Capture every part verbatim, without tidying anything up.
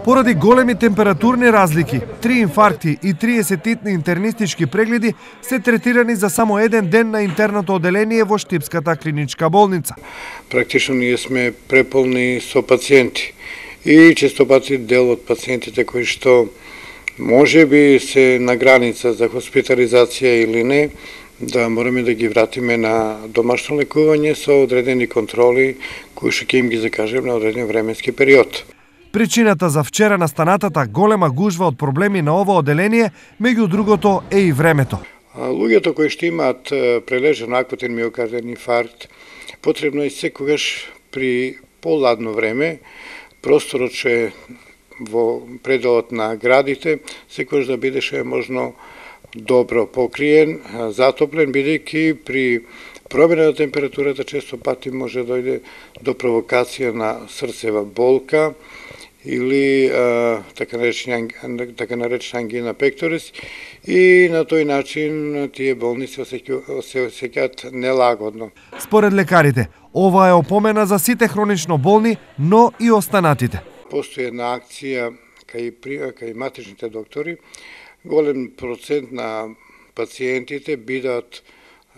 Поради големи температурни разлики, три инфаркти и триесет итни интернистички прегледи се третирани за само еден ден на интерното оделение во Штипската клиничка болница. Практично ние сме преполни со пациенти и често пати дел од пациентите кои што може би се на граница за хоспитализација или не, да мораме да ги вратиме на домашно лекување со одредени контроли кои што ќе им ги закажеме на одреден временски период. Причината за вчера настанатата голема гужва од проблеми на ова оделение, меѓу другото, е и времето. Луѓето кои што имаат прележен акутен миокарден инфаркт, потребно е секогаш при поладно време, просторот што е во пределот на градите, секогаш да бидеше можно добро покриен, затоплен, бидејќи при промена на температурата често пати може да дојде до провокација на срцева болка или а, така наречена така наречена ангина пекторис, и на тој начин тие болни се осеќаат нелагодно. Според лекарите, ова е опомена за сите хронично болни, но и останатите. Постои една акција кај кај матичните доктори, голем процент на пациентите бидат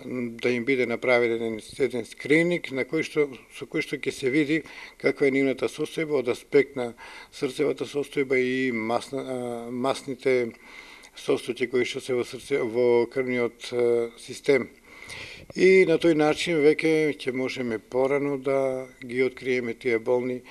да им биде направен еден скрининг на кој што со кој што ќе се види каква е нивната состојба од аспект на срцевата состојба и масна, масните состојки кои што се во срце во крвниот систем. И на тој начин веќе ќе можеме порано да ги откриеме тие болни